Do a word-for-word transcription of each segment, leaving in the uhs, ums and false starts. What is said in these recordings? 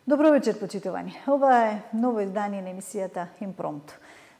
Добро вечер, почитувани. Ова е ново издание на емисијата Импромту.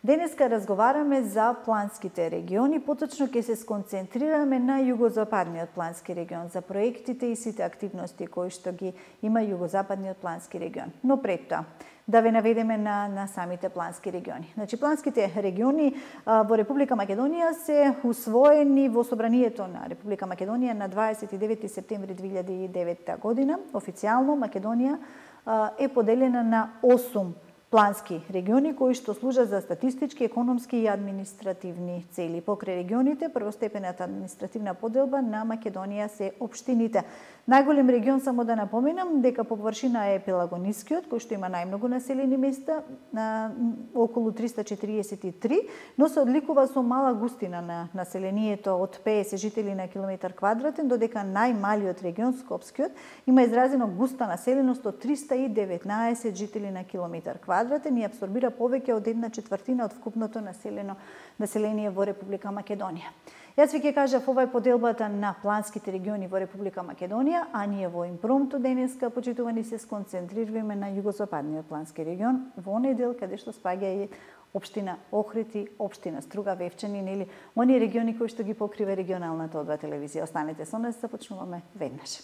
Денеска разговараме за планските региони, поточно ќе се сконцентрираме на југозападниот плански регион, за проектите и сите активности кои што ги има југозападниот плански регион. Но пред тоа, да ве наведеме на, на самите плански региони. Значи, планските региони а, во Република Македонија се усвоени во Собранието на Република Македонија на дваесет и девети септември две илјади и девета година. Официјално Македонија а, е поделена на осум плански региони кои што служат за статистички, економски и административни цели. Покрај регионите, првостепената административна поделба на Македонија се општините. Најголем регион, само да напоменам, дека по површина е Пелагонискиот, кој што има најмногу населени места, на околу триста четириесет и три, но се одликува со мала густина на населението од петдесет жители на километар квадратен, додека најмалиот регион, Скопскиот, има изразено густа населеност од триста и деветнаесет жители на километар квадратен и абсорбира повеќе од една четвртина од вкупното населено население во Република Македонија. Јас ви ќе кажав, ова е поделбата на планските региони во Република Македонија, а ние во Импромту денеска, почитувани, се сконцентрираме на југозападниот плански регион, во оној дел каде што спаѓа и општина Охрид и општина Струга, Вевчани, нели, оние региони кои што ги покрива регионалната одба телевизија. Останете со нас, започнуваме веднаш.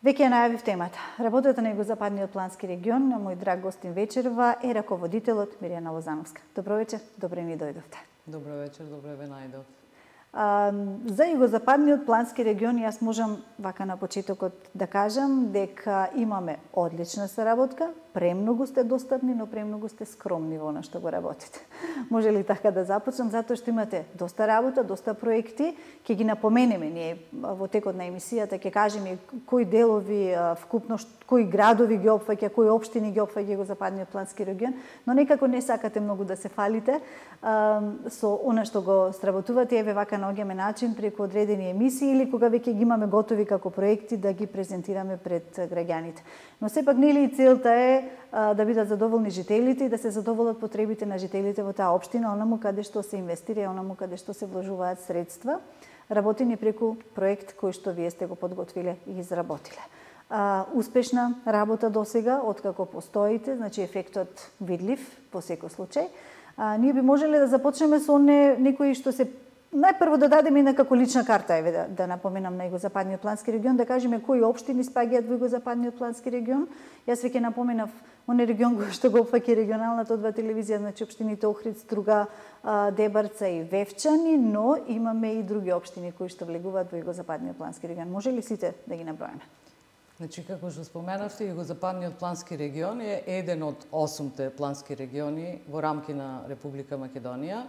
Веќе ја најавив темата. Работата на југозападниот плански регион, на мој драг гостин вечерва е раководителот Мирјана Лозановска. Добро вечер, добре ни дојдовте. Добро вечер, добре ве најдов. А, за југозападниот плански регион јас можам вака на почетокот да кажам дека имаме одлична соработка, премногу сте достапни, но премногу сте скромни во она што го работите. Може ли така да започнам? Затоа што имате доста работа, доста проекти, ќе ги напоменеме ние во текот на емисијата, ќе кажеме кои делови вкупно, кои градови ги опфаќа, кои општини ги опфаќа југозападниот плански регион, но некако не сакате многу да се фалите а, со она што го сработувате. Еве вака наоѓаме начин преку одредени емисии или кога веќе ги имаме готови како проекти да ги презентираме пред граѓаните. Но сепак нели и целта е а, да бидат задоволни жителите и да се задоволат потребите на жителите во таа општина, онаму каде што се инвестира и онаму каде што се вложуваат средства, работени преку проект кој што вие сте го подготвиле и изработиле. А, успешна работа досега, откако постоите, значи ефектот видлив во секој случај. А, ние би можеле да започнеме со не, некои што се најпрво да дадеме некако лична карта, еве да, да напоменам на југозападниот плански регион, да кажеме кои општини спаѓаат во југозападниот плански регион. Јас веќе напоменав оној регион кој што го опфаќа регионалната одба телевизија, значи општините Охрид, Струга, Дебарца и Вевчани, но имаме и други општини кои што влегуваат во југозападниот плански регион. Може ли сите да ги наброиме? Значи, како што споменавте, југозападниот плански регион е еден од осумте плански региони во рамки на Република Македонија.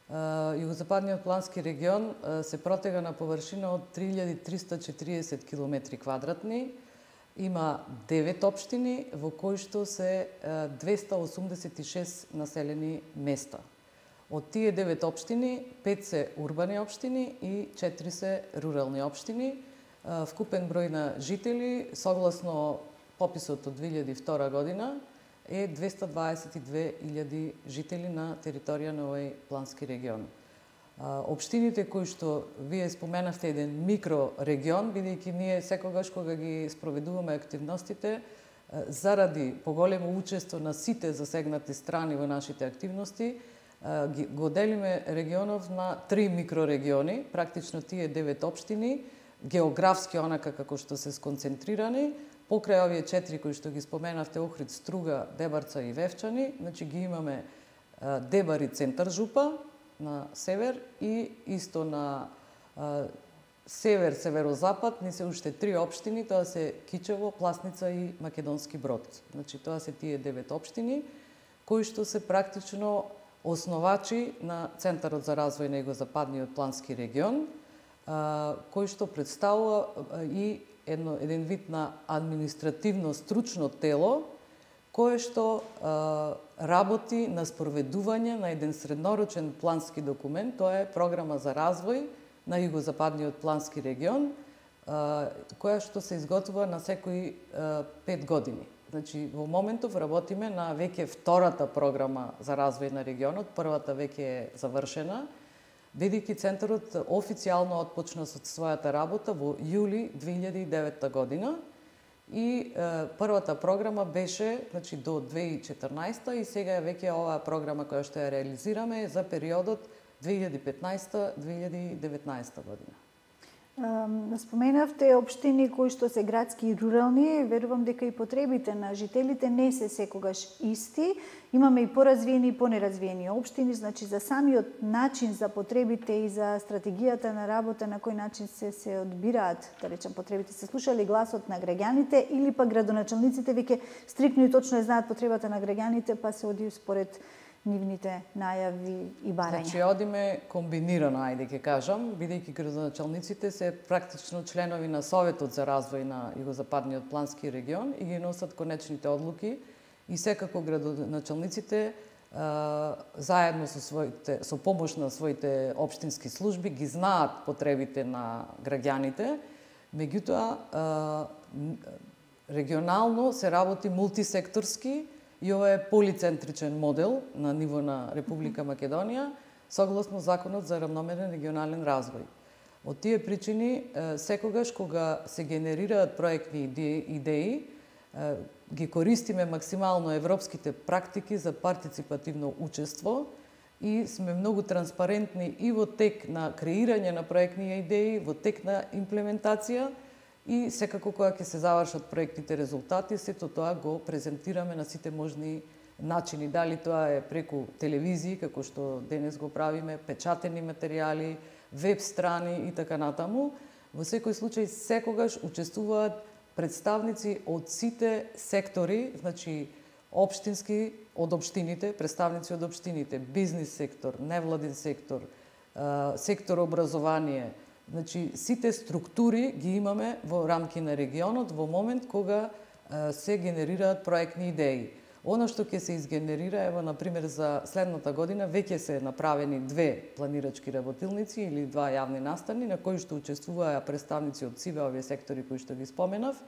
Југозападниот плански регион се протега на површина од три илјади триста и четириесет километри квадратни, има девет општини во кои што се двеста осумдесет и шест населени места. Од тие девет општини, пет се урбани општини и четири се рурални општини. Вкупен број на жители, согласно пописот од две илјади и втора година, е двеста дваесет и две илјади жители на територија на овој плански регион. Општините кои што вие споменавте еден микрорегион, бидејќи ние секогаш кога ги спроведуваме активностите, заради поголемо учество на сите засегнати страни во нашите активности, го делиме регионов на три микрорегиони, практично тие девет општини, географски онака како што се сконцентрирани, покрај овие четири кои што ги споменавте, Охрид, Струга, Дебарца и Вевчани, значи ги имаме Дебари, центар жупа на север и исто на север, северозапад, ни се уште три општини, тоа се Кичево, Пласница и Македонски Брод. Значи тоа се тие девет општини кои што се практично основачи на Центарот за развој на југозападниот плански регион, кој што представува и едно, еден вид на административно стручно тело, кое што а, работи на спроведување на еден среднорочен плански документ, тоа е програма за развој на југозападниот плански регион, а, која што се изготвува на секои а, пет години. Значи, во моментов работиме на веќе втората програма за развој на регионот, првата веќе е завршена, бидејќи центарот официјално отпочна со својата работа во јули две илјади и девета година и е, првата програма беше, значи, до две илјади и четрнаесета и сега е веќе оваа програма која што ја реализираме за периодот две илјади и петнаесета - две илјади и деветнаесета година. Споменавте општини кои што се градски и рурални, верувам дека и потребите на жителите не се секогаш исти. Имаме и поразвиени и понеразвиени општини, значи за самиот начин за потребите и за стратегијата на работа, на кој начин се се одбираат, да речем, потребите, се слушали гласот на граѓаните или па градоначалниците веќе стрикно и точно ја знаат потребата на граѓаните, па се оди според нивните најави и барања. Значи, одиме комбинирано, ајде ќе кажам, бидејќи градоначалниците се практично членови на Советот за развој на Југозападниот плански регион и ги носат конечните одлуки и секако градоначалниците а, заедно со своите со помош на своите општински служби ги знаат потребите на граѓаните, меѓутоа а, регионално се работи мултисекторски и ова е полицентричен модел на ниво на Република Македонија, согласно Законот за равномерен регионален развој. Од тие причини, секогаш кога се генерираат проектни идеи, ги користиме максимално европските практики за партиципативно учество и сме многу транспарентни и во тек на креирање на проектни идеи, во тек на имплементација, и секако кога ќе се завршат проектните резултати, сето тоа го презентираме на сите можни начини. Дали тоа е преку телевизии, како што денес го правиме, печатени материјали, веб страни и така натаму. Во секој случај секогаш учествуваат представници од сите сектори, значи општински од општините, представници од општините, бизнис сектор, невладин сектор, сектор образование. Значи, сите структури ги имаме во рамки на регионот во момент кога се генерираат проектни идеи. Оно што ќе се изгенерира, ево, например, за следната година, веќе се направени две планирачки работилници или два јавни настани, на кои што учествуваа представници од сиве овие сектори кои што ги споменав,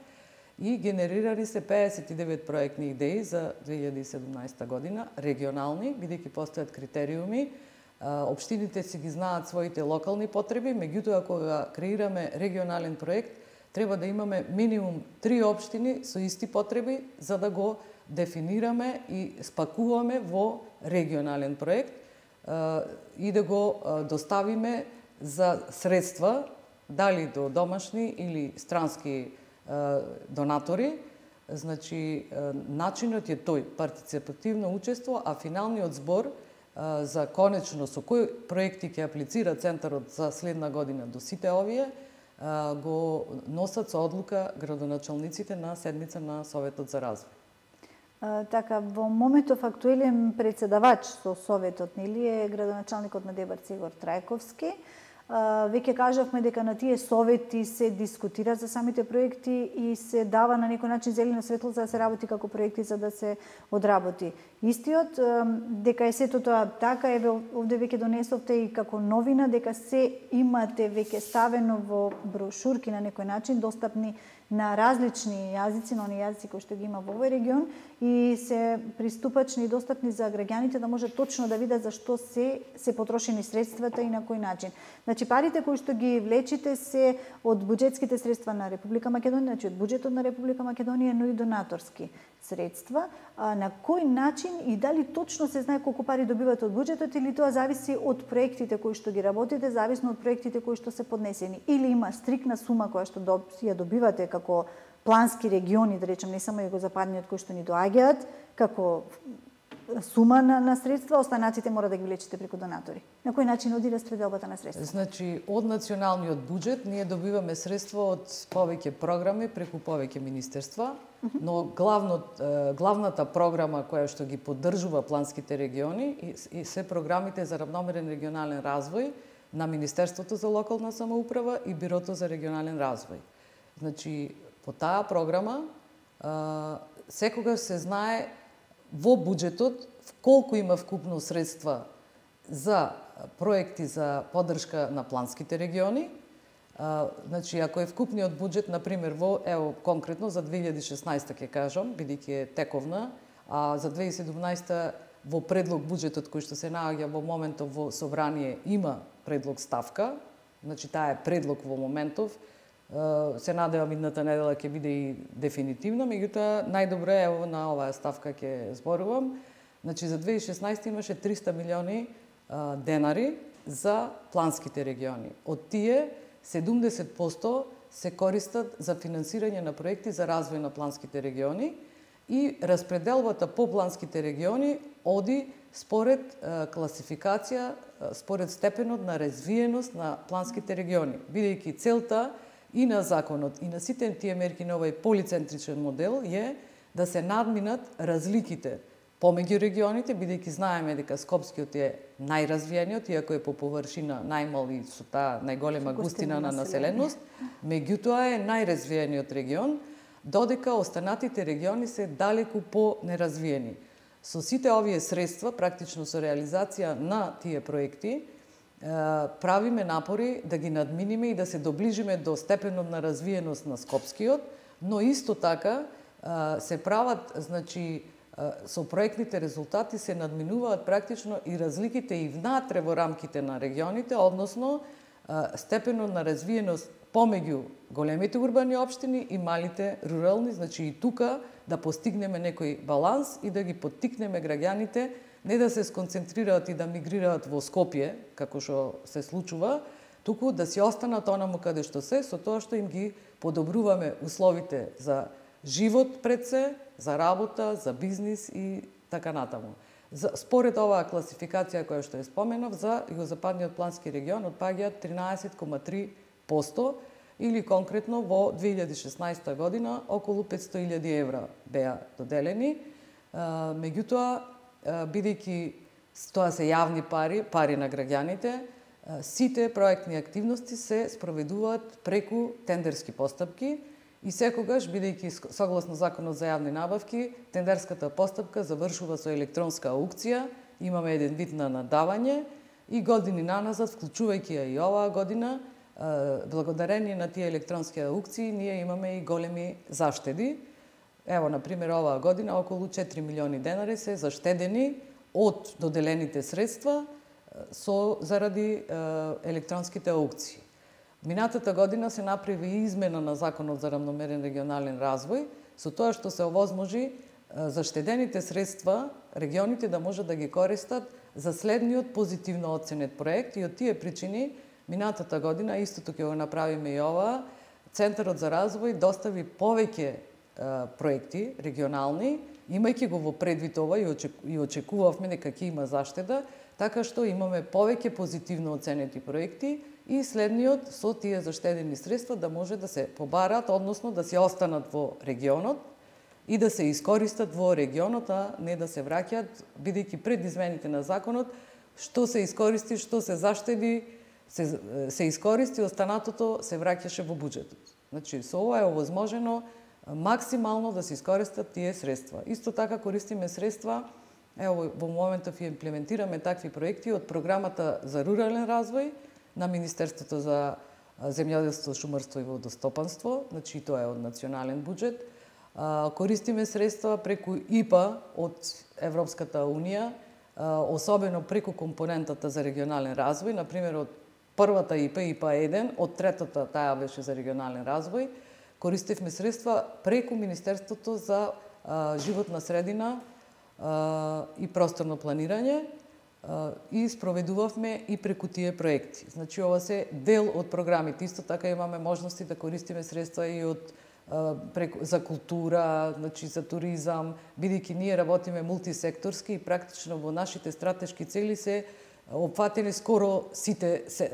и генерирани се пеесет и девет проектни идеи за две илјади и седумнаесета година, регионални, бидејќи постојат критериуми. Општините си ги знаат своите локални потреби, меѓутоа кога креираме регионален проект, треба да имаме минимум три општини со исти потреби за да го дефинираме и спакуваме во регионален проект и да го доставиме за средства, дали до домашни или странски донатори. Значи, начинот е тој, партиципативно учество, а финалниот збор за конечно со кои проекти ќе аплицира Центарот за следна година до сите овие, го носат со одлука градоначалниците на седница на Советот за развој. А, така, во моментов актуелен председавач со Советот, нели, е градоначалникот на Дебарци Игор Трајковски. А, веќе кажавме дека на тие совети се дискутира за самите проекти и се дава на некој начин зелено светло за да се работи како проекти за да се одработи. Истиот, дека е сето тоа така, еве овде веќе донесовте и како новина дека се имате веќе ставено во брошурки на некој начин достапни на различни јазици, на оние јазици кои што ги има во овој регион и се приступачни и достапни за граѓаните да може точно да видат за што се се потрошени средствата и на кој начин. Значи парите кои што ги влечите се од буџетските средства на Република Македонија, значи од буџетот на Република Македонија, но и донаторски средства. А на кој начин и дали точно се знае колку пари добивате од буџетот или тоа зависи од проектите кои што ги работите, зависно од проектите кои што се поднесени, или има стрикна сума која што ја добивате како плански региони, да речем, не само југозападниот кои што ни доаѓаат, како сума на, на средства, останатите мора да ги влечете преку донатори. На кој начин оди распределбата на средства? Значи, од националниот буџет ние добиваме средства од повеќе програми преку повеќе министерства, но главнот, главната програма која што ги поддржува планските региони и се програмите за равномерен регионален развој на Министерството за локална самоуправа и Бирото за регионален развој. Значи, по таа програма секогаш се знае во буџетот колку има вкупно средства за проекти за поддршка на планските региони, А, значи, ако е вкупниот буџет, например, во, ево, конкретно за две илјади и шеснаесета ќе кажам, бидејќи е тековна, а за две илјади и седумнаесета во предлог буџетот кој што се наоѓа во моментов во собрание има предлог ставка, значи таа е предлог во моментов, се надевам идната недела ќе биде и дефинитивно, меѓутоа најдобро е ево на оваа ставка ќе зборувам. Значи за две илјади и шеснаесета имаше триста милиони а, денари за планските региони. Од тие седумдесет проценти се користат за финансирање на проекти за развој на планските региони и распределбата по планските региони оди според а, класификација, а, според степенот на развиеност на планските региони, бидејќи целта и на законот и на сите тие мерки на овој полицентричен модел е да се надминат разликите помеѓу регионите, бидејќи знаеме дека Скопскиот е најразвиениот, иако е по површина најмал и со таа најголема густина на населеност, меѓутоа е најразвиениот регион, додека останатите региони се далеку по-неразвиени. Со сите овие средства, практично со реализација на тие проекти, правиме напори да ги надминиме и да се доближиме до степенот на развиеност на Скопскиот, но исто така се прават, значи, со проектните резултати се надминуваат практично и разликите и внатре во рамките на регионите, односно степенот на развиеност помеѓу големите урбани општини и малите рурални, значи и тука да постигнеме некој баланс и да ги поттикнеме граѓаните не да се сконцентрираат и да мигрираат во Скопје, како што се случува, туку да си останат онаму каде што се, со тоа што им ги подобруваме условите за живот пред се, за работа, за бизнис и така натаму. За, според оваа класификација која што ја споменав, за Југозападниот плански регион отпаѓаат тринаесет zarez три проценти или конкретно во две илјади и шеснаесета година околу петстотини илјади евра беа доделени. Меѓутоа, бидејќи тоа се јавни пари, пари на граѓаните, сите проектни активности се спроведуваат преку тендерски постапки и секогаш, бидејќи согласно Законот за јавни набавки, тендерската постапка завршува со електронска аукција, имаме еден вид на надавање и години наназад, вклучувајќи ја и оваа година, благодарение на тие електронски аукции, ние имаме и големи заштеди. Ево, например, оваа година околу четири милиони денари се заштедени од доделените средства со заради електронските аукции. Минатата година се направи измена на Законот за рамномерен регионален развој, со тоа што се овозможи заштедените средства регионите да можат да ги користат за следниот позитивно оценет проект и од тие причини минатата година, истото ќе го направиме и ова, Центарот за развој достави повеќе проекти регионални, имајќи го во предвид ова и очекувавме дека ќе има заштеда, така што имаме повеќе позитивно оценети проекти и следниот со тие заштедени средства да може да се побарат, односно да се останат во регионот и да се искористат во регионот, а не да се враќаат, бидејќи пред измените на законот, што се искористи, што се заштеди, се, се искористи, останатото се враќаше во буџетот. Значи, со ова е овозможено максимално да се искористат тие средства. Исто така користиме средства, ево во моментов ја имплементираме такви проекти од програмата за рурален развој на Министерството за земјоделство, шумарство и водостопанство, значи тоа е од национален буџет. Користиме средства преку И П А од Европската унија, особено преку компонентата за регионален развој, например од првата И П А, И П А еден, од третата таа беше за регионален развој, користевме средства преку Министерството за животна средина и просторно планирање и спроведувавме и преку тие проекти. Значи, ова се дел од програмите. Исто така имаме можности да користиме средства и од преку, за култура, значи за туризам, бидејќи ние работиме мултисекторски и практично во нашите стратешки цели се опфатени скоро сите се,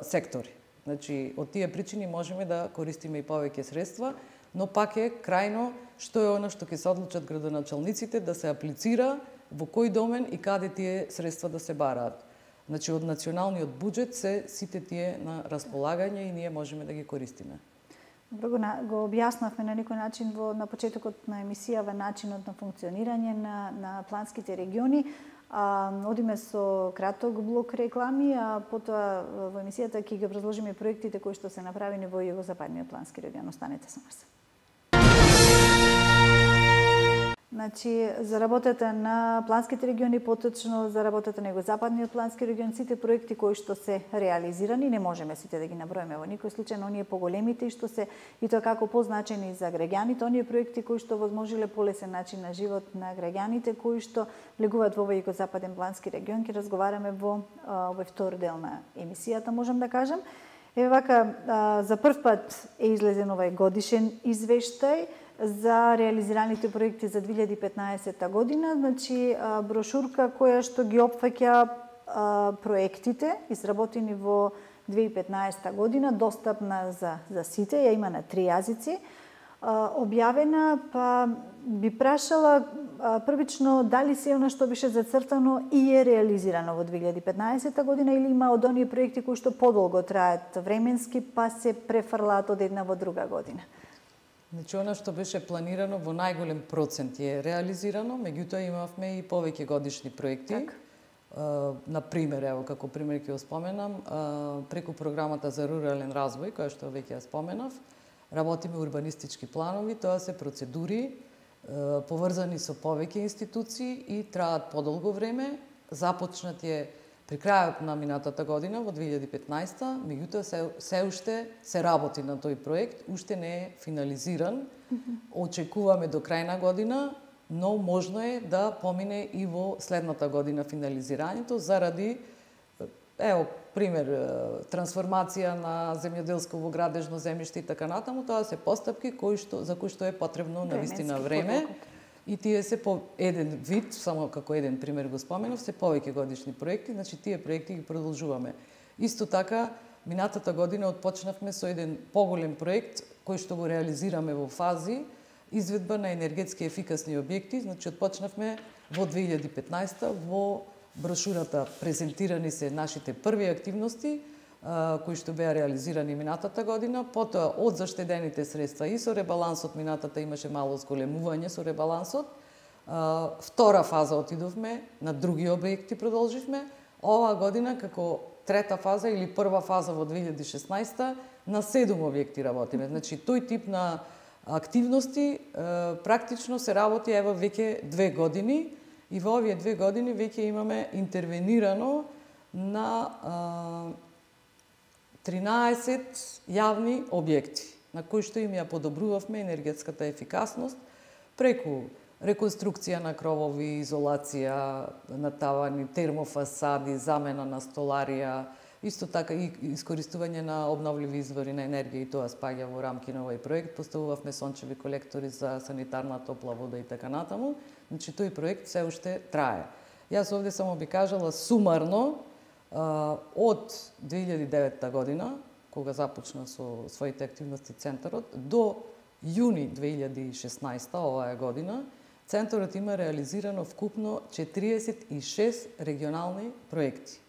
сектори. Значи, од тие причини можеме да користиме и повеќе средства, но пак е крајно што е она што ќе се одлучат градоначалниците да се аплицира во кој домен и каде тие средства да се бараат. Значи, од националниот буџет се сите тие на располагање и ние можеме да ги користиме. Добро, го, го објаснавме на некој начин во, на почетокот на емисијава начинот на функционирање на, на планските региони. А, одиме со краток блок реклами, а потоа во емисијата ќе ги образложиме проектите кои што се направени во Југозападниот плански регион. Останете со нас. Значи, за работата на планските региони, поточно за работата на Југозападниот плански регион, сите проекти кои што се реализирани, не можеме сите да ги наброиме во никој случај, но оние поголемите и што се и тоа како позначени за граѓаните, оние проекти кои што возможиле полесен начин на живот на граѓаните кои што влегуваат во овој Југозападен плански регион, ќе разговараме во овој втор дел на емисијата, можам да кажам. Еве вака, за прв пат е излезен овој годишен извештај за реализираните проекти за две илјади и петнаесетта година, значи брошурка која што ги опфаќа проектите изработени во две илјади и петнаесетта година, достапна за за сите, ја има на три јазици, објавена, па би прашала првично дали се она што беше зацртано и е реализирано во две илјади и петнаесетта година или има од оние проекти кои што подолго траат временски, па се префрлаат од една во друга година. Значи, она што беше планирано во најголем процент е реализирано, меѓутоа имавме и повеќе годишни проекти. Так. На пример, ево, како пример ќе го споменам, преку програмата за рурален развој, која што веќе ја споменав, работиме урбанистички планови, тоа се процедури поврзани со повеќе институции и траат подолго време. Започнат е при крајот на минатата година, во две илјади и петнаесетта, меѓутоа се, се уште се работи на тој проект, уште не е финализиран. Очекуваме до крај на година, но можно е да помине и во следната година финализирањето, заради, ево, пример, трансформација на земјоделско во градежно земјиште и така натаму, тоа се постапки кои што, за кои што е потребно навистина време. И тие се по еден вид, само како еден пример го споменав, се повеќе годишни проекти, значи тие проекти ги продолжуваме. Исто така, минатата година отпочнавме со еден поголем проект, кој што го реализираме во фази, изведба на енергетски ефикасни објекти, значи отпочнавме во две илјади и петнаесетта, во брошурата презентирани се нашите први активности, кои што беа реализирани минатата година, потоа од заштедените средства и со ребалансот минатата имаше мало зголемување со ребалансот. Втора фаза отидовме, на други објекти продолживме. Оваа година како трета фаза или прва фаза во две илјади и шеснаесетта на седум објекти работиме. Значи тој тип на активности практично се работи ево веќе две години и во овие две години веќе имаме интервенирано на тринаесет јавни објекти, на кои што им ја подобрувавме енергетската ефикасност преку реконструкција на кровови, изолација на тавани, термофасади, замена на столарија, исто така и искористување на обновливи извори на енергија, и тоа спаѓа во рамки на овој проект. Поставувавме сончеви колектори за санитарна топла вода и така натаму. Значи тој проект се уште трае. Јас овде само би кажала сумарно, од две илјади и деветта година, кога започна со своите активности Центарот, до јуни две илјади и шеснаесетта, оваа година, Центарот има реализирано вкупно четириесет и шест регионални проекти.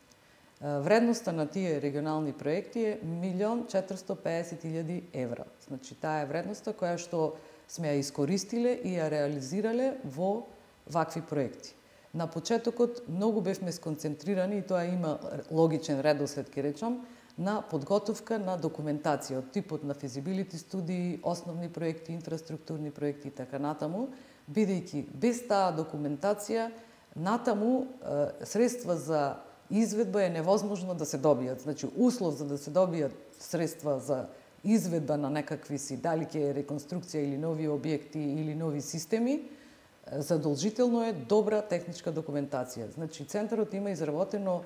Вредноста на тие регионални проекти е милион четиристо и педесет илјади евра. Значи, таа е вредноста која што сме ја искористиле и ја реализирале во вакви проекти. На почетокот многу бевме сконцентрирани, и тоа има логичен редослед, ке речам, на подготовка на документација од типот на физибилити студии, основни проекти, инфраструктурни проекти и така натаму, бидејќи без таа документација натаму средства за изведба е невозможно да се добијат. Значи, услов за да се добијат средства за изведба на некакви си, дали ќе е реконструкција или нови објекти или нови системи, задолжително е добра техничка документација. Значи, Центарот има изработено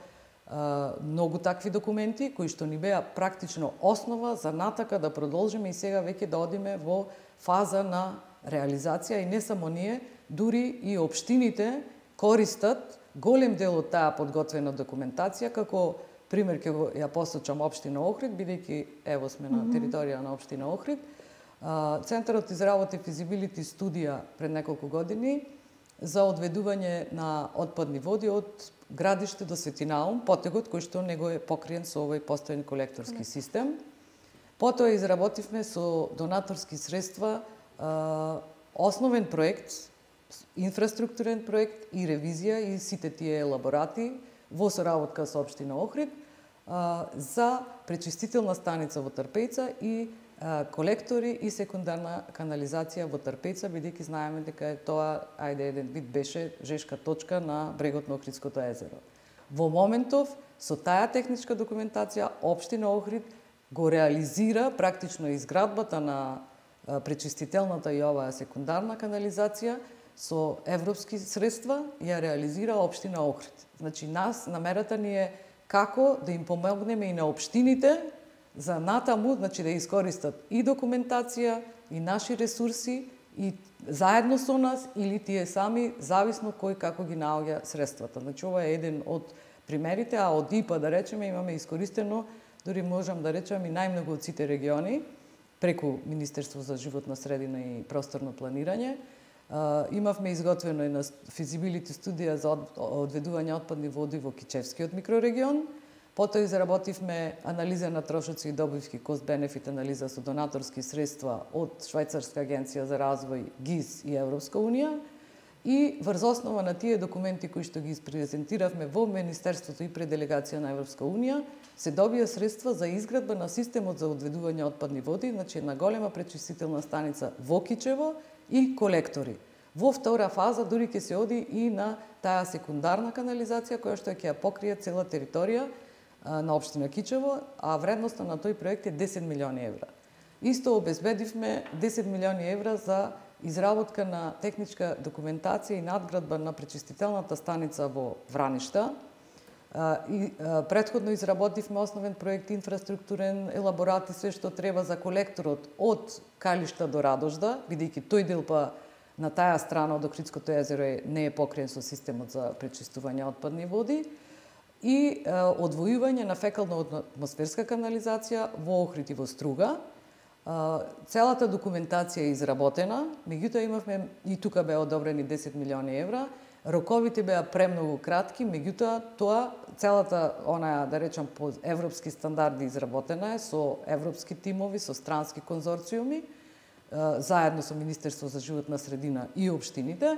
а, многу такви документи, кои што ни беа практично основа за натака да продолжиме и сега веќе да одиме во фаза на реализација, и не само ние, дури и општините користат голем дел од таа подготвена документација, како пример ќе го ја посочам општина Охрид, бидејќи ево сме на територија на општина Охрид. Центарот изработи физибилити студија пред неколку години за одведување на отпадни води од градиште до Светинаум, потегот кој што него е покриен со овој постојен колекторски систем. Потоа изработивме со донаторски средства основен проект, инфраструктурен проект и ревизија и сите тие елаборати во соработка со општина Охрид за пречистителна станица во Трпејца и колектори и секундарна канализација во Трпејца, бидејќи знаеме дека тоа, ајде, еден вид беше жешка точка на брегот на Охридското езеро. Во моментов, со таа техничка документација, општина Охрид го реализира практично изградбата на пречистителната и оваа секундарна канализација со европски средства, ја реализира општина Охрид. Значи, нас, намерата ни е како да им помогнеме и на општините за натаму, значи да искористат и документација, и наши ресурси, и заедно со нас, или тие сами, зависно кој како ги наоѓа средствата. Значи, ова е еден од примерите, а од ИПА, да речеме, имаме искористено, дори можам да речем, и најмногу од сите региони, преку Министерство за животна средина и просторно планирање. Имавме изготвено една физибилити студија за одведување отпадни води во Кичевскиот микрорегион. Потоа изработивме анализа на трошоци и добивки, кост-бенефит анализа со донаторски средства од Швајцарска агенција за развој, ГИС и Европска унија. И врз основа на тие документи кои што ги презентиравме во Министерството и пред делегација на Европска унија, се добија средства за изградба на системот за одведување отпадни води, значи една голема пречистителна станица во Кичево и колектори. Во втора фаза дури ќе се оди и на таа секундарна канализација која што ќе ја покрие цела територија на општина Кичево, а вредноста на тој проект е десет милиони евра. Исто обезбедивме десет милиони евра за изработка на техничка документација и надградба на пречистителната станица во Враништа. И претходно изработивме основен проект инфраструктурен, елаборат и све што треба за колекторот од Калишта до Радожда, бидејќи тој дел па на таа страна од Охридското езеро не е покриен со системот за пречистување отпадни води, и одвојување на фекално-атмосферска канализација во Охрид и во Струга. Целата документација е изработена, меѓутоа имавме и тука беа одобрени десет милиони евра. Роковите беа премногу кратки, меѓутоа тоа целата онаа, да речам, по европски стандарди изработена е со европски тимови, со странски конзорциуми, заедно со Министерство за животна средина и општините,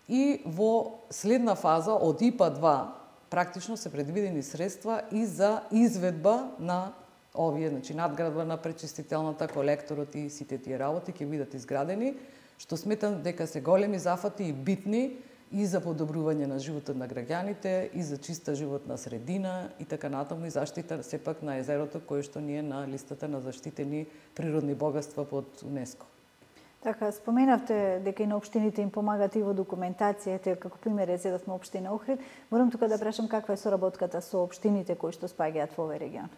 и во следна фаза од ИПА два практично се предвидени средства и за изведба на овие, значи надградба на пречистителната, колекторот и сите тие работи ќе бидат изградени, што сметам дека се големи зафати и битни и за подобрување на животот на граѓаните, и за чиста животна средина и така натаму, и заштита сепак на езерото кое што ни е на листата на заштитени природни богатства под УНЕСКО. Така, споменавте дека и на општините им помагат и во документацијата, како пример е зедавме општина Охрид. Морам тука да прашам каква е соработката со општините кои што спаѓаат во овој регион.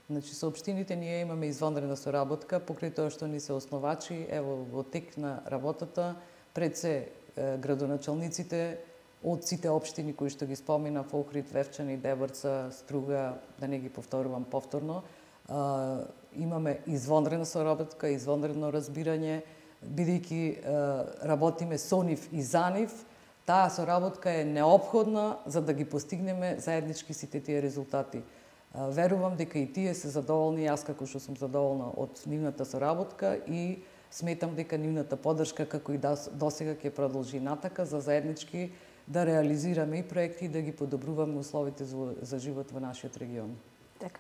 Значи, со општините ние имаме извонредна соработка, покрај тоа што ни се основачи, ево, во тек на работата, пред се градоначалниците од сите општини кои што ги спомина, Охрид, Вевчани, Деборца, Струга, да не ги повторувам повторно, имаме извонредна соработка, извонредно разбирање, бидејќи работиме со нив и за нив. Таа соработка е неопходна за да ги постигнеме заеднички сите тие резултати. Верувам дека и тие се задоволни, јас како што сум задоволна од нивната соработка, и сметам дека нивната поддршка како и досега ќе продолжи натака за заеднички да реализираме и проекти и да ги подобруваме условите за, за живот во нашиот регион. Така.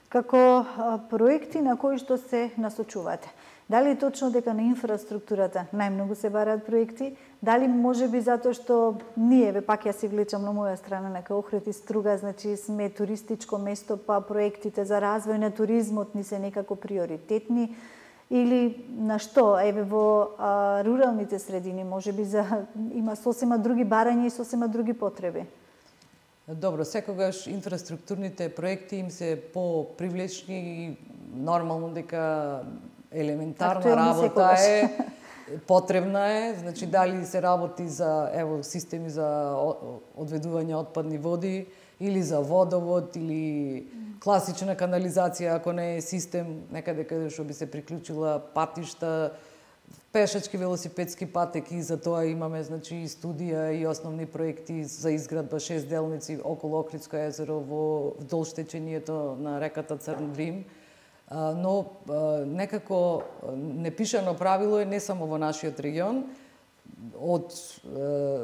Како проекти на кои што се насочувате? Дали е точно дека на инфраструктурата најмногу се бараат проекти? Дали може би затоа што ние, ве пак ја се влечам на моја страна, нека Охрид и Струга, значи сме туристичко место, па проектите за развој на туризмот ни се некако приоритетни? Или на што? Еве во а, руралните средини може би за, има сосема други барања и сосема други потреби? Добро, секогаш инфраструктурните проекти им се по-привлечни и нормално дека елементарна работа е, потребна е, значи дали се работи за ево системи за одведување отпадни води или за водовод или класична канализација, ако не е систем некаде каде што би се приклучила патишта, пешачки, велосипедски патеки, за тоа имаме значи и студија и основни проекти за изградба шест делници околу Охридско езеро во вдолж течењето на реката Црн Дрим. но некако непишано правило е не само во нашиот регион. Од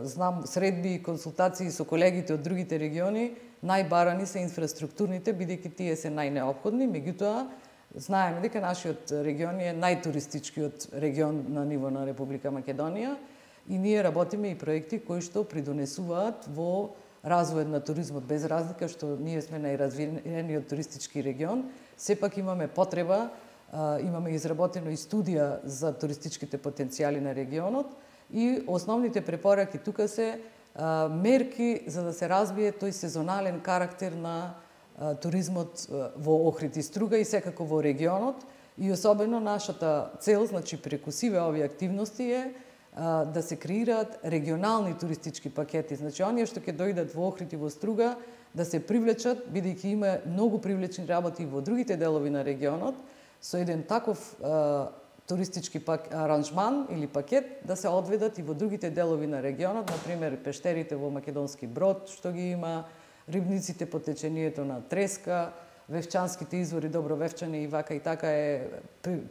знам средби и консултации со колегите од другите региони, најбарани се инфраструктурните, бидејќи тие се најнеопходни, меѓутоа знаеме дека нашиот регион е најтуристичкиот регион на ниво на Република Македонија и ние работиме и проекти кои што придонесуваат во развојот на туризмот, без разлика што ние сме најразвиениот туристички регион, сепак имаме потреба, имаме изработено и студија за туристичките потенцијали на регионот и основните препораки тука се мерки за да се развие тој сезонален карактер на туризмот во Охрид и Струга и секако во регионот и особено нашата цел, значи преку сиве овие активности е да се креираат регионални туристички пакети. Значи оние што ќе дојдат во Охрид и во Струга да се привлечат, бидејќи има многу привлечни работи во другите делови на регионот, со еден таков туристички пак, аранжман или пакет да се одведат и во другите делови на регионот, например пештерите во Македонски Брод, што ги има, рибниците по течението на Треска, Вевчанските извори Добровевчани и вака и така е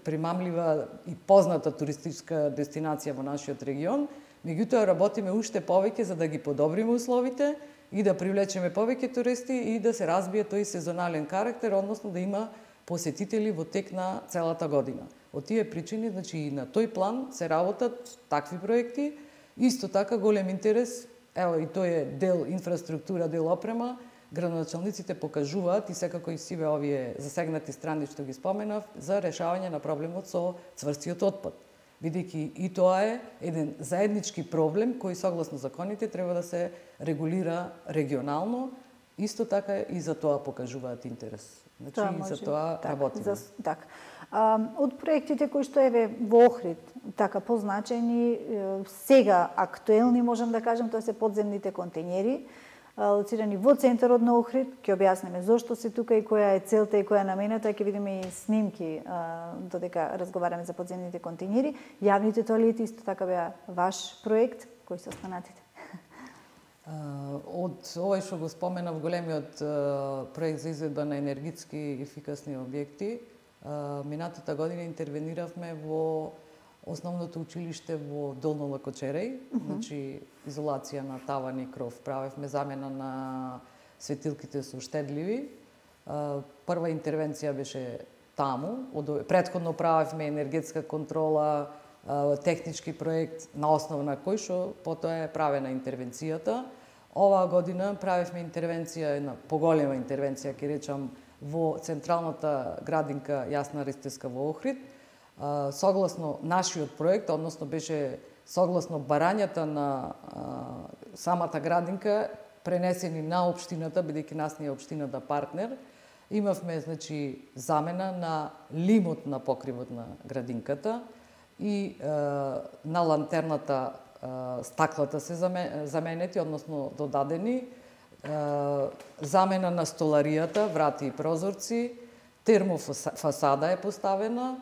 примамлива и позната туристичка дестинација во нашиот регион. Меѓутоа работиме уште повеќе за да ги подобриме условите и да привлечеме повеќе туристи и да се разбие тој сезонален карактер, односно да има посетители во тек на целата година. Од тие причини, значи и на тој план се работат такви проекти. Исто така голем интерес, ево и тој е дел инфраструктура, дел опрема, градоначалниците покажуваат и секако и сиве овие засегнати страни што ги споменав за решавање на проблемот со цврстиот отпад. Бидејќи и тоа е еден заеднички проблем кој согласно законите треба да се регулира регионално, исто така и за тоа покажуваат интерес. Значи тоа и може, за тоа так, работиме. За, так. А, од проектите кои што еве во Охрид, така позначени, сега актуелни можам да кажам, тоа се подземните контејнери, лоцирани во центарот на Охрид. Ќе објасниме зошто се тука и која е целта и која е намената, ќе видиме и снимки додека разговараме за подземните контејнери. Јавните тоалети исто така беа ваш проект, кои се останатите? Од овој што го споменав големиот проект за изведба на енергетски ефикасни објекти, минатата година интервениравме во основното училиште во Долно Лакочереј, mm -hmm. значи изолација на таван и кров. Правевме замена на светилките со штедливи. Прва интервенција беше таму, претходно правевме енергетска контрола, технички проект на основа на кој што потоа е правена интервенцијата. Оваа година правевме интервенција, една поголема интервенција, ќе речам, во централната градинка Јасна Ристевска во Охрид. Согласно нашиот проект, односно беше согласно барањата на самата градинка, пренесени на општината, бидејќи нас не е општината партнер, имавме значи замена на лимот на покривот на градинката и е, на лантерната е, стаклата се заменети, односно додадени, е, замена на столаријата, врати и прозорци, термофасада е поставена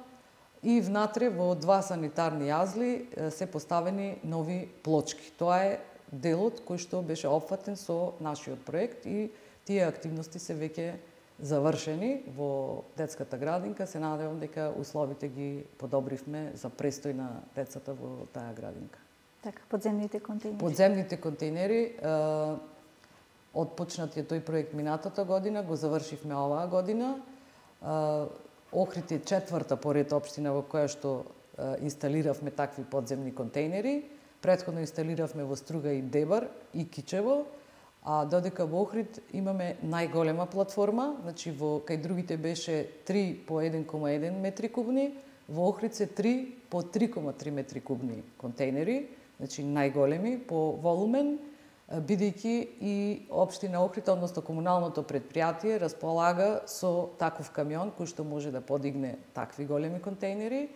и внатре во два санитарни јазли се поставени нови плочки. Тоа е делот кој што беше опфатен со нашиот проект и тие активности се веќе завршени во детската градинка. Се надевам дека условите ги подобривме за престој на децата во таа градинка. Така, подземните контејнери. Подземните контејнери, отпочнатиот тој проект минатата година, го завршивме оваа година. Охрид е четврта поред општина во која што инсталиравме такви подземни контејнери. Претходно инсталиравме во Струга и Дебар и Кичево, а додека во Охрид имаме најголема платформа, значи во кај другите беше три по еден кома еден метри кубни, во Охрид се три по три кома три метри кубни контејнери, значи најголеми по волумен, бидејќи и општина Охрид, односно комуналното предпријатие, располага со таков камион кој што може да подигне такви големи контејнери.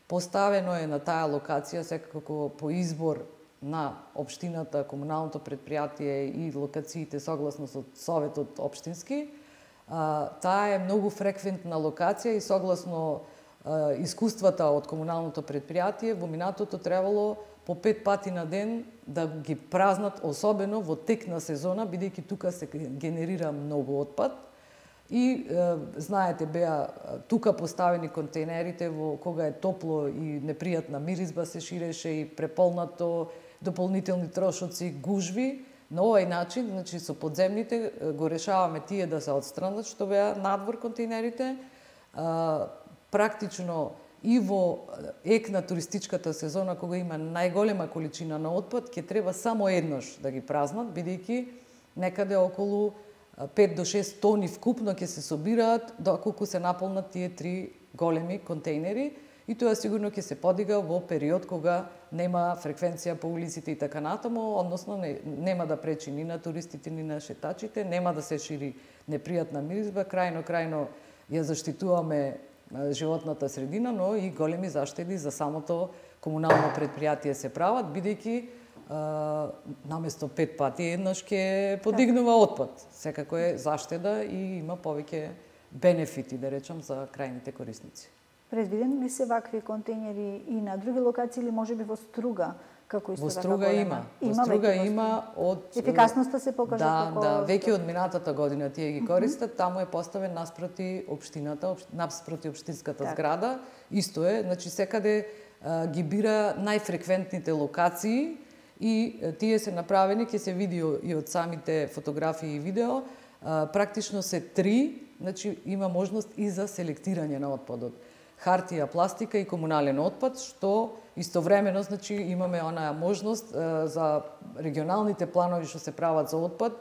Поставено е на таа локација секако по избор на општината, комуналното предпријатие и локациите согласно со советот општински. Таа е многу фреквентна локација и согласно искуствата од комуналното предпријатие во минатото требало по пет пати на ден да ги празнат, особено во тек на сезона, бидејќи тука се генерира многу отпад. И знаете, беа тука поставени контейнерите во кога е топло и непријатна миризба се ширеше и преполнато, дополнителни трошоци, гужви. На овој начин, значи со подземните го решаваме тие да се отстранат што беа надвор контейнерите. Практично и во ек на туристичката сезона кога има најголема количина на отпад, ќе треба само еднаш да ги празнат, бидејќи некаде околу пет до шест тони вкупно ќе се собираат доколку се наполнат тие три големи контейнери, и тоа сигурно ќе се подига во период кога нема фреквенција по улиците и така натаму, односно не, нема да пречи ни на туристите ни на шетачите, нема да се шири непријатна миризба, крајно крајно ја заштитуваме животната средина, но и големи заштеди за самото комунално предпријатие се прават, бидејќи наместо пет пати еднаш ќе подигнува отпад. Секако е заштеда и има повеќе бенефити, да речам, за крајните корисници. Предвидени ли се вакви контейнери и на други локации или можеби во Струга, како исто во Струга има. Во Струга има од ефикасноста се покажа да, како да, веќе од минатата година тие ги користат, mm -hmm. таму е поставен наспроти општината, наспроти општинската так. зграда. Исто е, значи секаде а, ги бира најфреквентните локации и тие се направени, ќе се види и од самите фотографии и видео, а, практично се три, значи има можност и за селектирање на отпадот. Хартија, пластика и комунален отпад, што истовремено, значи, имаме онаа можност а, за регионалните планови што се прават за отпад,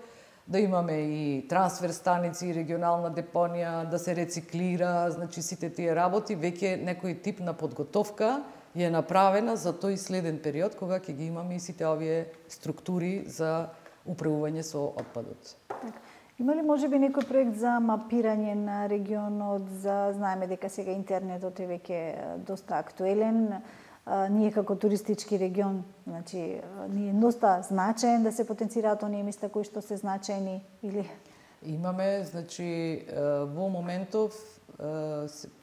да имаме и трансфер станици, регионална депонија, да се рециклира, значи сите тие работи, веќе некој тип на подготовка е направена за тој следен период, кога ќе ги имаме и сите овие структури за управување со отпадот. Има ли можеби некој проект за мапирање на регионот, за знаеме дека сега интернетот е веќе доста актуелен, а, ние како туристички регион, значи ни е доста значаен да се потенцираат оние места кои што се значајни или имаме, значи во моментов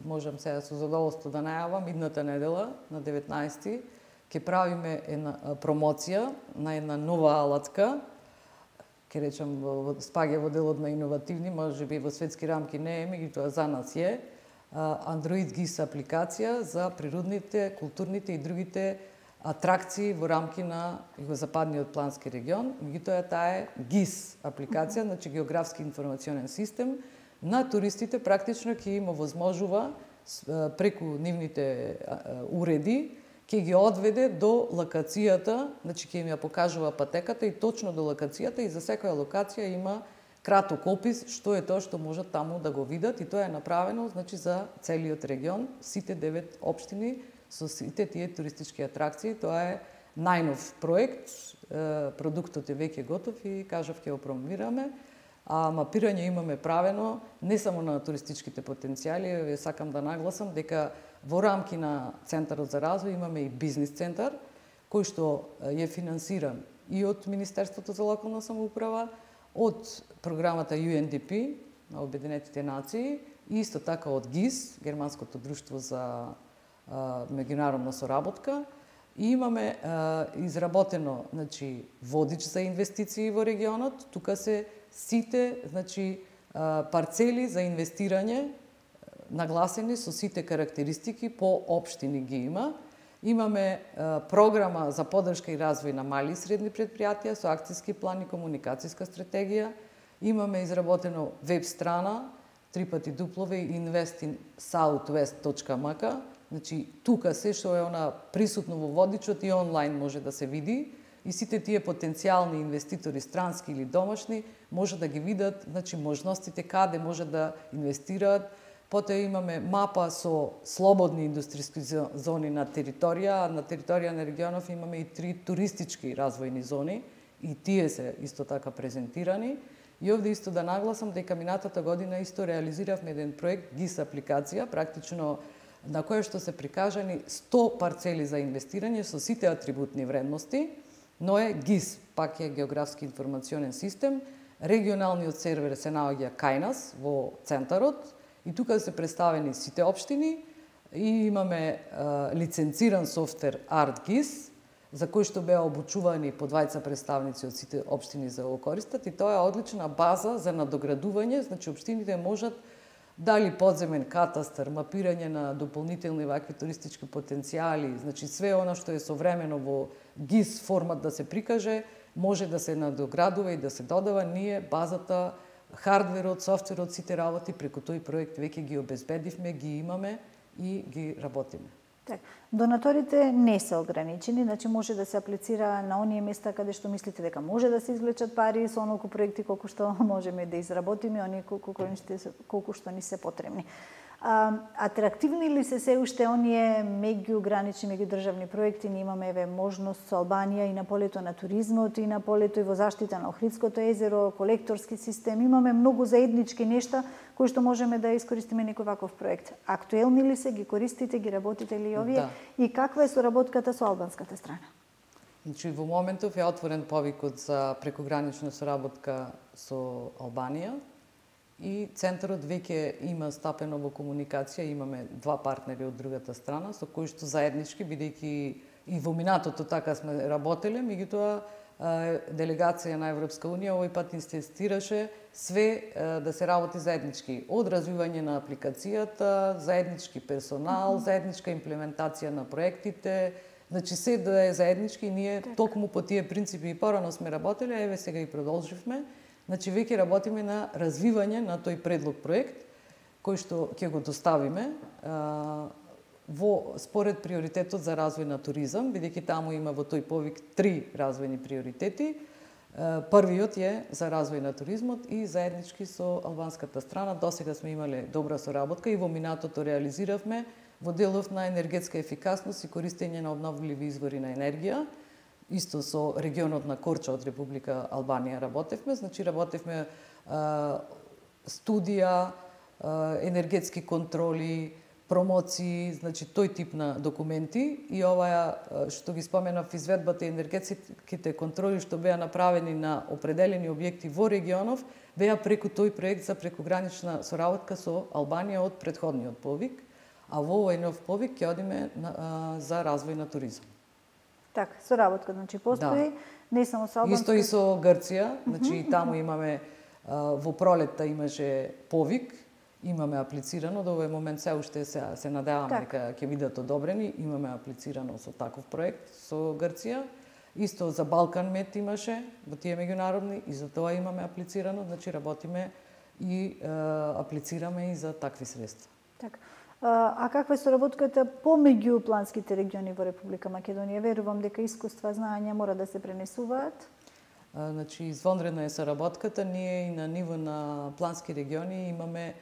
можам сега со задоволство да најавам, идната недела на деветнаесети ќе правиме една промоција на една нова алатка, ќе речам, спаѓа во делот на иновативни, може би во светски рамки не е, меѓутоа за нас е, Android гис апликација за природните, културните и другите атракции во рамки на Југозападниот плански регион. Меѓутоа таа е гис апликација, значи географски информационен систем, на туристите практично ќе им овозможува преку нивните уреди, ќе ги одведе до локацијата, значи ќе им ја покажува патеката и точно до локацијата, и за секоја локација има краток опис што е тоа што можат таму да го видат, и тоа е направено, значи, за целиот регион, сите девет општини со сите тие туристички атракции. Тоа е најнов проект, продуктот е веќе готов и кажав ќе го промовираме. А мапирање имаме правено не само на туристичките потенцијали, ве сакам да нагласам дека во рамки на Центарот за развој имаме и бизнис центар, кој што е финансиран и од Министерството за локална самоуправа, од програмата Ю Ен Ди Пи на Обединетите нации и исто така од ГИС, Германското друштво за а, меѓународна соработка. И имаме а, изработено, значи, водич за инвестиции во регионот. Тука се сите, значи, парцели за инвестирање нагласени со сите карактеристики по општини ги има. Имаме програма за поддршка и развој на мали и средни предпријатија со акцијски план и комуникацијска стратегија. Имаме изработено веб страна три пати дуплове инвест ин саут вест точка ем ка. Значи, тука се што е она присутно во водичот и онлайн може да се види, и сите тие потенцијални инвеститори, странски или домашни, може да ги видат, значи, можностите каде може да инвестираат. Потоа имаме мапа со слободни индустријски зони на територија, на територија на регионов имаме и три туристички развојни зони, и тие се исто така презентирани. И овде исто да нагласам дека минатата година исто реализиравме еден проект ГИС апликација, практично на која што се прикажани сто парцели за инвестирање со сите атрибутни вредности, но е ГИС, пак е географски информационен систем. Регионалниот сервер се наоѓа кај нас во центарот, и тука се представени сите општини, и имаме а, лиценциран софтвер ArtGIS за кои што беа обучувани по двајца представници од сите општини за го користат, и тоа е одлична база за надоградување, значи општините можат дали подземен катастар, мапирање на дополнителни вакви туристички потенцијали, значи све она што е современо во ГИС формат да се прикаже, може да се надоградува и да се додава. Ние базата, хардверот, софтверот, сите работи преку тој проект веќе ги обезбедивме, ги имаме и ги работиме. Так, донаторите не се ограничени, значи може да се аплицира на оние места каде што мислите дека може да се извлечат пари со онолку проекти колку што можеме да изработиме, оние колку, колку што ни се потребни. А, атрактивни ли се се уште оние меѓугранични, меѓудржавни проекти? Ние имаме еве можност со Албанија и на полето на туризмот, и на полето и во заштита на Охридското езеро, колекторски систем. Имаме многу заеднички нешта кои што можеме да искористиме некој ваков проект. Актуелни ли се, ги користите, ги работите ли овие? Да. И каква е соработката со албанската страна? Значи, во моментов е отворен повикот за прекогранична соработка со Албанија, и центарот веќе има стапено во комуникација, имаме два партнери од другата страна со кои што заеднички, бидејќи и во минатото така сме работеле, меѓутоа делегација на Европска унија овој пат инсистираше све да се работи заеднички, од развивање на апликацијата, заеднички персонал, заедничка имплементација на проектите, значи се да е заеднички. Ние токму по тие принципи и порано сме работеле, еве сега и продолживме. Значи, веќе работиме на развивање на тој предлог проект, кој што ќе го доставиме а, во според приоритетот за развој на туризам, бидејќи таму има во тој повик три развојни приоритети. А, првиот е за развој на туризмот и заеднички со албанската страна. Досега сме имале добра соработка и во минатото реализиравме во делов на енергетска ефикасност и користење на обновливи извори на енергија. Исто со регионот на Корча од Република Албанија работевме, значи работевме а, студија, а, енергетски контроли, промоции, значи тој тип на документи, и ова што ги споменав, изведбата и енергетските контроли што беа направени на определени објекти во регионов, беа преку тој проект за прекогранична соработка со Албанија од претходниот повик, а во овој нов повик ќе одиме на, а, за развој на туризам. Така, соработка, значи постои, да. Не само со Албанска. Исто и со Грција, значи и таму имаме, во пролетта имаше повик, имаме аплицирано, до овој момент се уште се, се надеваме дека ќе бидат одобрени, имаме аплицирано со таков проект со Грција. Исто за Балкан Мед имаше, во тие меѓународни, и за тоа имаме аплицирано, значи работиме и е, аплицираме и за такви средства. Така. А каква е соработката помеѓу планските региони во Република Македонија? Верувам дека искуства, знаења мора да се пренесуваат. А, значи, извонредна е соработката. Ние и на ниво на плански региони имаме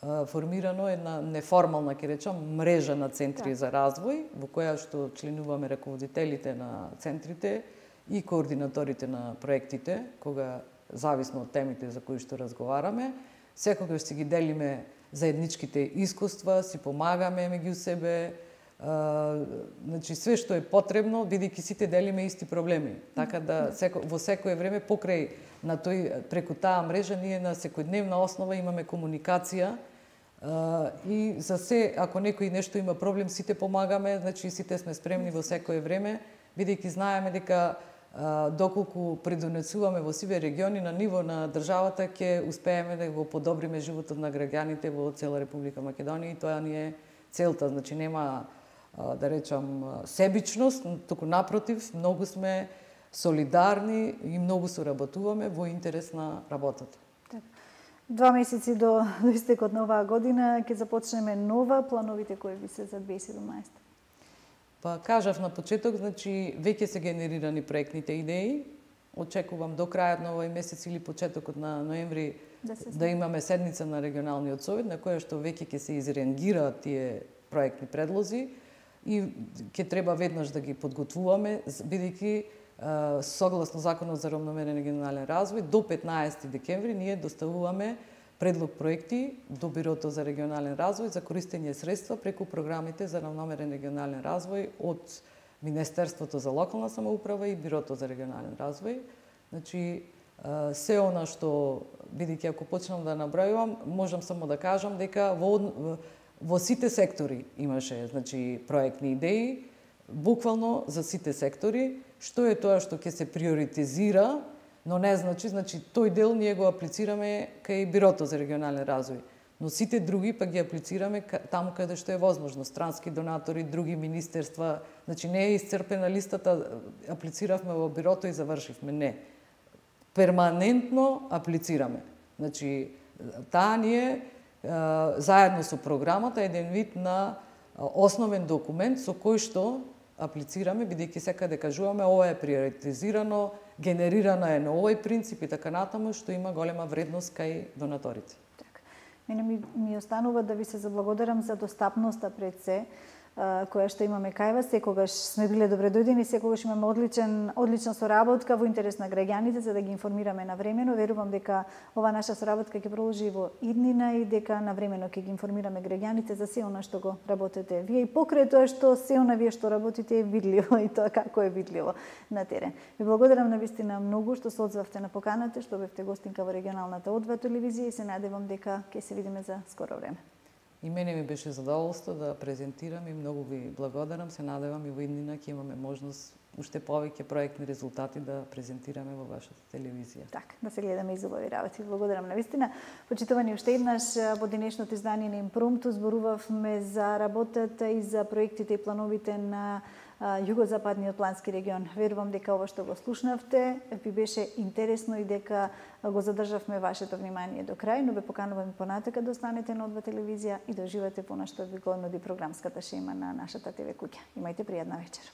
а, формирано една неформална, ќе речам, мрежа на центри да. за развој, во која што членуваме раководителите на центрите и координаторите на проектите, кога зависно од темите за кои што разговараме, секогаш си ги делиме заедничките искуства, си помагаме меѓу себе, а, значи све што е потребно, бидејќи сите делиме исти проблеми. Така да секо, во секое време покрај на тој преку таа мрежа ние на секојдневна основа имаме комуникација, а, и за се ако некој нешто има проблем, сите помагаме, значи сите сме спремни во секое време, бидејќи знаеме дека доколку предонесуваме во сиве региони на ниво на државата, ќе успееме да го подобриме животот на граѓаните во цела Република Македонија, и тоа ни е целта. Значи нема, да речам, себичност, туку напротив, многу сме солидарни и многу соработуваме во интерес на работата. Два месеци до, до истекот на оваа година ќе започнеме нова, плановите кои ви се за две илјади и седумнаесета? Па кажав на почеток, значи веќе се генерирани проектните идеи. Очекувам до крајот на овој месец или почетокот на ноември да, да имаме седница на регионалниот совет на која што веќе ќе се изренгираат тие проектни предлози и ќе треба веднаш да ги подготвуваме, бидејќи согласно Законот за равномерен регионален развој до петнаесети декември ние доставуваме предлог проекти до Бирото за регионален развој за користење средства преку програмите за равномерен регионален развој од Министерството за локална самоуправа и Бирото за регионален развој. Значи, се она што, бидејќи ако почнам да набројувам, можам само да кажам дека во, во сите сектори имаше, значи, проектни идеи, буквално за сите сектори, што е тоа што ќе се приоритизира, но не значи, значи тој дел ние го аплицираме кај Бирото за регионален развој, но сите други па ги аплицираме таму каде што е возможно, странски донатори, други министерства, значи не е исцрпена листата, аплициравме во Бирото и завршивме, не. Перманентно аплицираме. Значи, таа ни е заедно со програмата еден вид на основен документ со кој што аплицираме, бидејќи секаде кажуваме ова е приоритизирано, генерирана е на овој принцип и така натаму, што има голема вредност кај донаторите. Така. Мене ми, ми останува да ви се заблагодарам за достапноста пред се, која што имаме кај вас, секогаш сме биле добредојдени, секогаш имаме одличен, одлична соработка во интерес на граѓаните за да ги информираме навремено. Верувам дека ова наша соработка ќе продолжи во иднина и дека навремено ќе ги информираме граѓаните за се она што го работите вие и покрај тоа што се она вие што работите е видливо и тоа како е видливо на терен. Ви благодарам навистина многу што се одзвавте на поканата, што бевте гостинка во регионалната О два телевизија и се надевам дека ќе се видиме за скоро време. И мене ми беше задоволство да презентирам и многу ви благодарам. Се надевам и во иднина ќе имаме можност уште повеќе проектни резултати да презентираме во вашата телевизија. Така, да се гледаме и убави работи. Благодарам навистина. Почитувани уште еднаш во денешното издание на Импромту зборувавме за работата и за проектите и плановите на југозападниот плански регион. Верувам дека ова што го слушнавте ви беше интересно и дека го задржавме вашето внимание до крај, но ве поканувам и понатака да останете на О два телевизија и да уживате по она што ви го нуди програмската шема на нашата ТВ куќа. Имајте пријатна вечер.